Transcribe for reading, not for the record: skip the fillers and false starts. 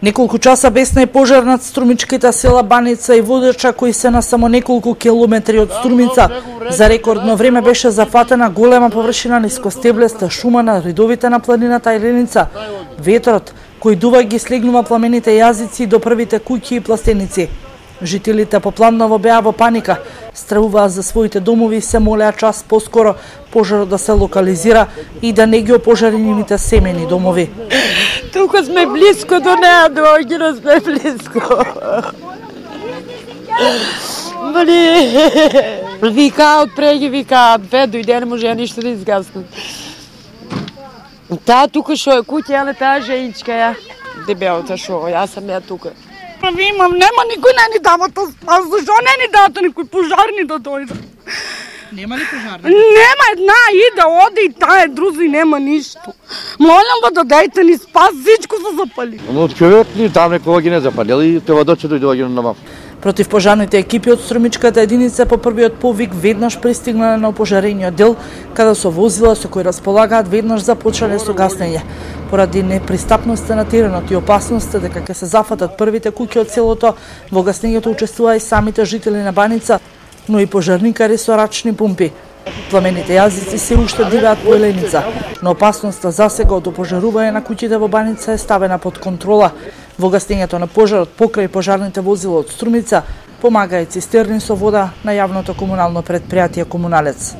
Неколку часа бесна е пожар над струмичките села Баница и Водача, кои се на само неколку километри од Струмица. За рекордно време беше зафатена голема површина нискостеблеста шума на ридовите на планината Еленица. Ветрот, кој дува ги слегнува пламените јазици до првите куќи и пластеници. Жителите Попланово беа во паника, стравуваа за своите домови и се молеа час поскоро пожарот да се локализира и да не ги опожари нивните семени домови. Тука сме близко до неа, доаѓено сме близко. Викаат, преги викаат, бе, дојде, не може ништо да изгаснат. Таа тука шо е куќа, еле таа женичка ја, дебелата шо, јас сам ја тука. Ви имам, нема никој не ни дава тоа спас, зашо не ни дава никој пожарни да дојдат? Нема ли пожарни? Нема, една иде, оде и таа друзи, нема ништо. Молам во да дајте ни спас, всичко се запали. Но човек ни там некога ги не запалили, тоа дојде доаѓа на мав. Противпожарните екипи од струмичката единица по првиот повик веднаш пристигнале на опожарениот дел, каде со возила со кои располагаат веднаш започнале со гаснење. Поради непристапноста на теренот и опасноста дека ќе се зафатат првите куќи од селото, во гаснењето учествуваа и самите жители на Баница, но и пожарникари со рачни пумпи. Пламените јазици се уште дивеат по Еленица, но опасноста засега од опожарување на куќите во Баница е ставена под контрола. Во гаснењето на пожарот покрај пожарните возила од Струмица помага и цистерни со вода на јавното комунално претпријатие Комуналец.